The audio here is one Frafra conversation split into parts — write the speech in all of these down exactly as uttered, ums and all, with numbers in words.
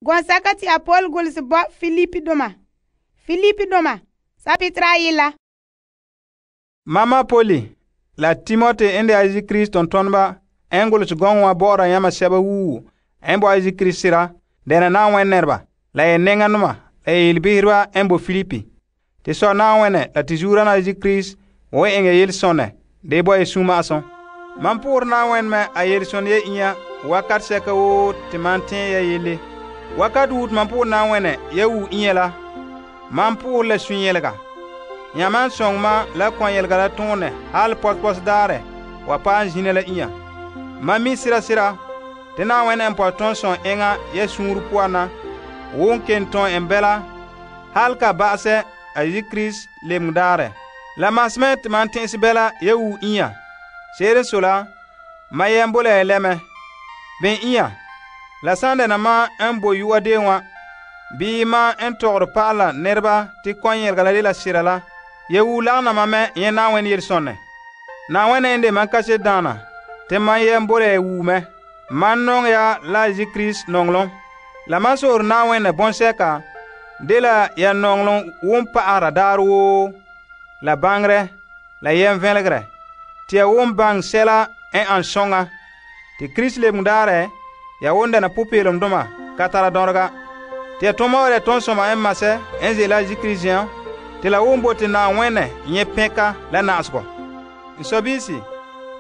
Gɔnsɛka te a Paul golehɛ bo Filipi doma. Filipi doma sapitera ayila. Mama Poli la Timote en de Yesu Krist tontoneba en golehɛ gɔŋɔ wa bɔ'ɔra yama sɛba woo en bo Yesu Krist sera dɛna Na'ayenɛ nɛreba la ya nɛŋanoma la ya yelebehereba en bo Filipi. Te sɔ Na'ayenɛ la te zuurana Yesu Krist wo eŋɛ yelesonɛ de bo ya suma'asum. Man poorɛ Na'ayenɛ me a yelesonɛ ya inya wakat sɛka woo te man tɛɛ ya yele. Wakat woo te man poorɛ Na'ayenɛ ya woo inya la, man poorɛ la sunyelega. Ya man sõng ma la kɔnyelega la tõonɛ hal pɔspɔs daarɛ wa paɛ zina la inya. Man mi sira sira te Na'ayenɛ n pɔtɛ tõn sõng eŋa ya suunre poan na wo n ken tõn en bɛla hal ka ba'asɛ a Yesu Krist lebenge daarɛ. La masmɛ te man tɛn'ɛse bɛla ya woo inya. Se'ere n sɔe la, ma yɛm bo la ya lɛmɛ. Ben inya, la san dɛna ma n bo yu'a de wa, bii ma n tɔgɔre pa'ala nɛreba te kɔnyelega la dela sera la, ya woo lagana ma mɛ nyɛ Na'ayenɛ yelesonɛ. Na'ayenɛ n de man kaset daana te man yɛm bo la ya woo mɛ. Man nɔŋɛ ya la Yesu Krist nɔŋlom. La man so'ore Na'ayenɛ bɔnsɛka dela ya nɔŋlom won pa'ahera daarɛ woo, la baŋerɛ, la yɛm vɛlegerɛ, te ya won baŋɛ sɛla n an soŋa. Te Krist lebenge daarɛ, ya won dɛna popeelomdoma ka tara dɔrega. Te ya tɔma wa ya tɔnsɔma n masɛ n ze'ela Yesu Krist zen'an, te la won bote Na'ayenɛ nyɛ pɛnka la na'asegɔ. N sɔbiisi,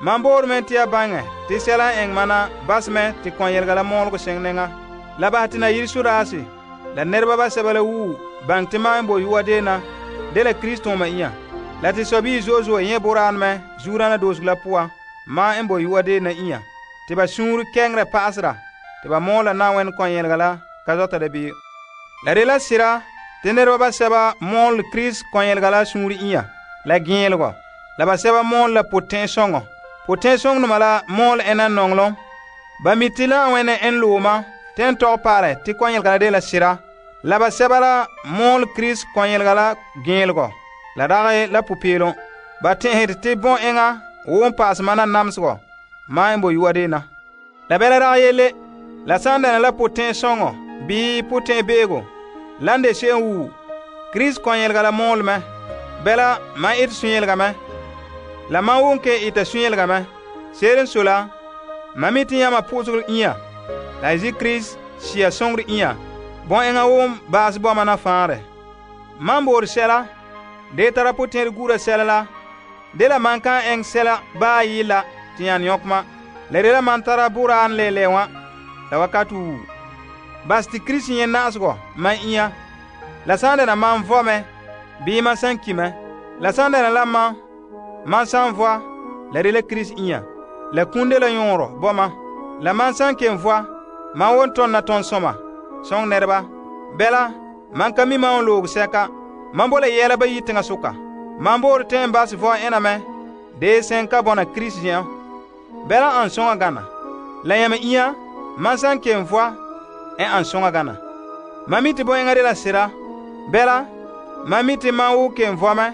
man boore mɛ te ya baŋɛ te sɛla n eŋɛ mana basɛ mɛ te kɔnyelega la mɔɔlegɔ seŋ nɛŋa. La basɛ te na yire sodaase la nɛreba basɛba la woo baŋɛ te ma n bo yu'a deena dela Krist tooma inya. La te sɔbii zo'e zo'e nyɛ boraanɛ mɛ zuurana doosego la poan ma n bo yu'a deena inya. Te ba suunre kɛŋerɛ pa'asera te ba mɔɔla Na'ayenɛ kɔnyelega la ka zɔta dabeem. La de la sera te nɛreba basɛba mɔɔle Krist kɔnyelega la suunre inya la gɛɛlegɔ. La basɛba mɔɔle la potɛn'sɔŋɔ. Potɛn'sɔŋdoma la mɔɔle ɛna nɔŋlom. Ba mi te Na'ayenɛ n looma te n tɔgɛ pa'alɛ te kɔnyelega la de la sera. La basɛba la mɔɔle Krist kɔnyelega la gɛɛlegɔ la dagɛ la popeelom. Ba tɛn'ɛhɛre te bɔn eŋa wo n pa'asɛ mana namesegɔ ma n bo yu'a deena. La bɛla dagɛ yele, la san dɛna la potɛn'sɔŋɔ bii potɛn'beego lan de se'em woo, Krist kɔnyelega la mɔɔle mɛ. Bɛla man ete sunyelega mɛ. La man won ke ita sunyelega mɛ. Se'ere n sɔe la, man mi te yãma po'osegɔ inya la Yesu Krist sia sõngere inya bɔn eŋa won baase bɔma na fãarɛ. Man boore sɛla de tara potɛn'ɛre gura sɛla la, dela man kan eŋɛ sɛla baa yɩla te yãn yõkema. La de la man tara boraan lɛɛlɛɛ wã la wakat woo. Bas te Krist nyɛ na'asegɔ man inya. La san dɛna man vɔ mɛ bii man san ki mɛ. La san dɛna la man, man san vɔa, la de la Krist inya. La kum de la yõorɔ bɔma. La man san ken vɔa, man won tɔnna tɔnsɔma sõng nɛreba. Bɛla, man ka mi man won loog sɛka. Man bo la yɛla bayi teŋa soka. Man boore tɛ n basɛ vɔ ɛna mɛ dee sẽn ka bɔna Krist zen'an. Bɛla an sõŋa gana. La yãmɛ inya, man san ken vɔa n an sõŋa gana. Man mi te bõ'eŋa de la sera. Bɛla, man mi te man wo ken vɔ mɛ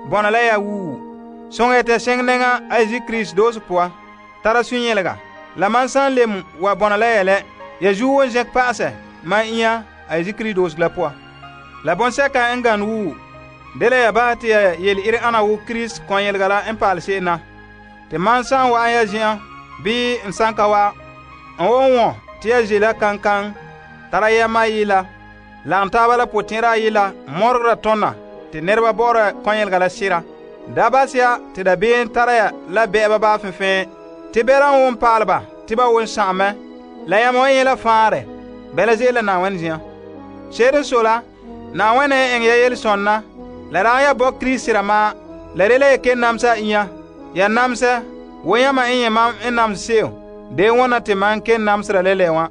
bɔna la ya woo. Sõŋa ya tɛ seŋ nɛŋa a Yesu Krist doosego poan, tara sunyelega. La man san lem wa bɔna la ya lɛ, ya zuo won zɛk pa'asɛ man inya a Yesu Krist doosego la poan. La bõnsɛka n gane woo, de la ya basɛ te ya yele-ire ana wo Krist kɔnyelega la n pa'ale se'em na. Te man san wa'an ya zen'an bii n san ka wa, n won wõ te ya ze la kankan tara yɛma yɩla lagem taaba la potẽera yɩla mɔregera tõna te nɛreba bɔ'ɔra kɔnyelega la sera. Da bas ya te dabeem tara ya la bɛ'ɛba baa fẽfẽ te bɛla n won pa'ale ba te ba won sã'am mɛ. La yãmba wa yẽ la fãare bɛla ze'ele la Na'ayenɛ zen'an. Se'ere n sɔe la, Na'ayenɛ n eŋɛ ya yelesõnna la dagɛ ya bɔ Krist sera maa. La de la ya ken namsa a inya. Ya namsɛ wo yãmba n yẽ mam n namse se'em dee wõna te man ken namsera lɛlɛ wã.